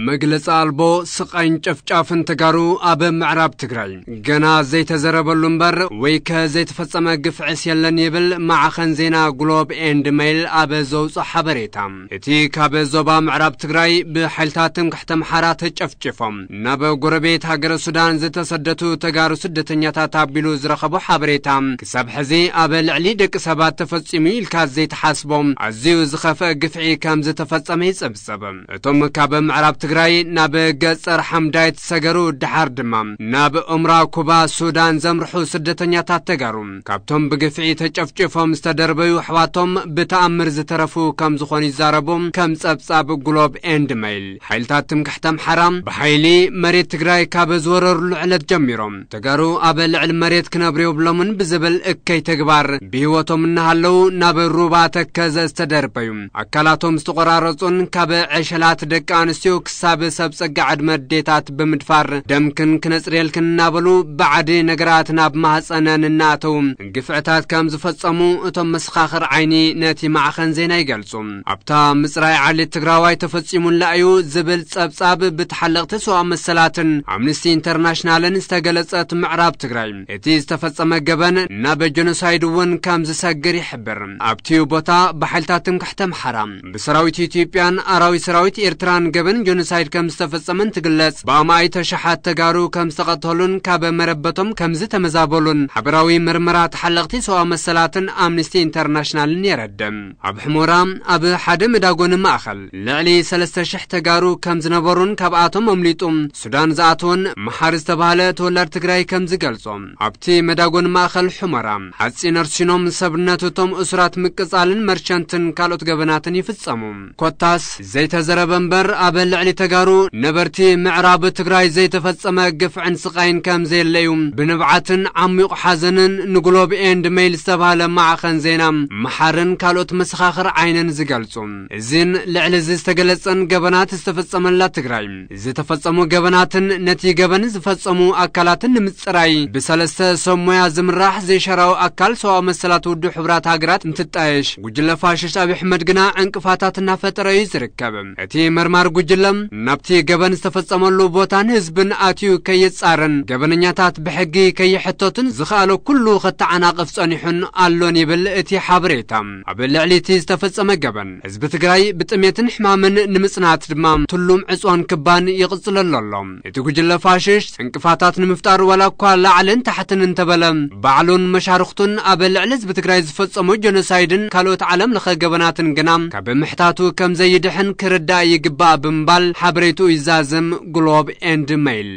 መግለጺ ኣልቦ ስቓይን ጨፍጫፍን ተጋሩ ኣብ ምዕራብ ትግራይ ገና ዘይተዘረበሉ እምበር ወይ ከ ዘይተፈጸመ ግፍዕስ የለን ይብል ማዕኸን ዜና ግሎብ ኤንድ ሜይል ኣብ ዘውፅኦ ሓበሬታ። እቲ ካብ ዞባ ምዕራብ ትግራይ ብሓይልታት ትምክሕቲ ኣምሓራ ተጨፍጭፎም ናብ ጎረቤት ሃገረ ሱዳን ዝተሰደቱ ተጋሩ ስደተኛታት ኣቢሉ ዝረኸቦ ሓበሬታ፣ ክሳብ ሕዚ ኣብ ልዕሊ ደቂ ሰባት ተፈጺሙ ኢልካ ዘይተሓስቦም ኣዝዩ ዝኸፍአ ግፍዒ ከም ዝተፈጸመ ይጸብጸብ። እቶም ካብ ምዕራብ ትግራይ ናብ ገጸር ሓምዳይት ሰገሩ፣ ድሓር ድማ ናብ ኡምራ ኩባ ሱዳን ዘምርሑ ስደተኛታት ተጋሩ፣ ካብቶም ብግፍዒ ተጨፍጭፎም ዝተደርበዩ ኣሕዋቶም ብተኣምር ዝተረፉ ከም ዝኾኑ ይዛረቡ። ከም ጸብጻብ ግሎብ ኤንድ ሜይል፣ ሓይልታት ትምክሕቲ ኣምሓራ ብሓይሊ መሬት ትግራይ ካብ ዝወረሩሉ ዕለት ጀሚሮም፣ ተጋሩ ኣብ ልዕሊ መሬት ክነብሩ የብሎምን ብዝብል እከይ ተግባር ብህይወቶም እናሃለዉ ናብ ሩባ ተከዘ ዝተደርበዩ፣ ኣካላቶም ዝተቆራረጹን ካብ ዕሸላት ደቂ ኣንስትዮ ክሳብ ሰብ ጸጋ ዕድመ ኣዴታት ብምድፋር፣ ደምክን ክነጽርየልክን እናበሉ ባዕዲ ነገራት ናብ ማህጸነን እናኣተዉ ግፍዕታት ከም ዝፈጸሙ እቶም መሰኻኽር ዓይኒ ነቲ ማዕኸን ዜና ይገልጹ። ኣብታ ምጽራይ ዓሌት ትግራዋይ ተፈጺሙላ እዩ ዝብል ጸብጻብ ብተሓለቕቲ ሰብኣዊ መሰላትን ኣምነስቲ ኢንተርናሽናልን ዝተገለጸት ምዕራብ ትግራይ፣ እቲ ዝተፈጸመ ገበን ናብ ጀኖሳይድ እውን ከም ዝሰግር ይሕብር። ኣብቲ ቦታ ብሓይልታት ትምክሕቲ ኣምሓራ፣ ብሰራዊት ኢትዮጵያን ኣራዊት ሰራዊት ኤርትራን ገበን ጀኖሳይድ ከም ዝተፈጸመን ትግለጽ። ብኣማኢት ኣሽሓት ተጋሩ ከም ዝተቐተሉን ካብ መረበቶም ከም ዝተመዛበሉን ሓበራዊ ምርመራ ተሓለቕቲ ሰብኣዊ መሰላትን ኣምነስቲ ኢንተርናሽናልን የረድእ። ኣብ ሕሞራ ኣብ ሓደ መዳጎኒ ማእኸል ልዕሊ ሰለስተ ሽሕ ተጋሩ ከም ዝነበሩን ካብኣቶም ኣምሊጡ ሱዳን ዝኣተወን መሓሪ ዝተባህለ ተወላድ ትግራይ ከም ዝገልጾ፣ ኣብቲ መዳጎኒ ማእኸል ሑመራ ሓፂን ኣርሲኖም ሰብነት እቶም እሱራት ምቅፃልን መርቸንትን ካልኦት ገበናትን ይፍጸሙ። ኮታስ ዘይተዘረበ እምበር ኣብ ልዕሊ ተጋሩ ነበርቲ ምዕራብ ትግራይ ዘይተፈጸመ ግፍዕን ስቓይን ከም ዘየለዩ ብንብዓትን ዓሚቑ ሓዘንን ንግሎብ ኤንድ ሜይል ዝተባህለ ማዕኸን ዜና መሓርን ካልኦት መሰኻኽር ዓይንን ዝገልጹ። እዚን ልዕሊ እዚ ዝተገለጸን ገበናት ዝተፈጸመላ ትግራይ ዝተፈጸሙ ገበናትን ነቲ ገበን ዝፈጸሙ ኣካላትን ንምጽራይ ብሰለስተ ሰብ ሞያ ዝምራሕ ዘይሻራዊ ኣካል ሰብኣዊ መሰላት ውድብ ሕቡራት ሃገራት እንትጣየሽ፣ ጉጅለ ፋሽስት ኣብይ ኣሕመድ ግና ዕንቅፋታት እናፈጠረ እዩ ዝርከብ። እቲ መርማሪ ጉጅለ ናብቲ ገበን ዝተፈጸመሉ ቦታን ህዝብን ኣትዩ ከይጻረን ገበነኛታት ብሕጊ ከይሕተቱን ዝኸኣሎ ኩሉ ከተዓናቕፍ ጸኒሑን ኣሎን ይብል እቲ ሓበሬታ። ኣብ ልዕሊ እቲ ዝተፈጸመ ገበን ህዝቢ ትግራይ ብጥሜትን ሕማምን ንምጽናት ድማ ትሉም ዕጽዋን ክባን ይቕጽለሉ ኣሎ። እቲ ጉጅለ ፋሽስት ዕንቅፋታት ንምፍጣር ዋላ እኳ ላዕልን ታሕትን እንተበለ፣ ባዕሉን መሻርኽቱን ኣብ ልዕሊ ህዝቢ ትግራይ ዝፈጸሙ ጀኖሳይድን ካልኦት ዓለም ለኸ ገበናትን ግና ካብ ምሕታቱ ከም ዘይድሕን ክርዳእ ይግባእ ብምባል ሓበሬትኡ ይዛዝም ግሎብ ኤንድ ሜይል።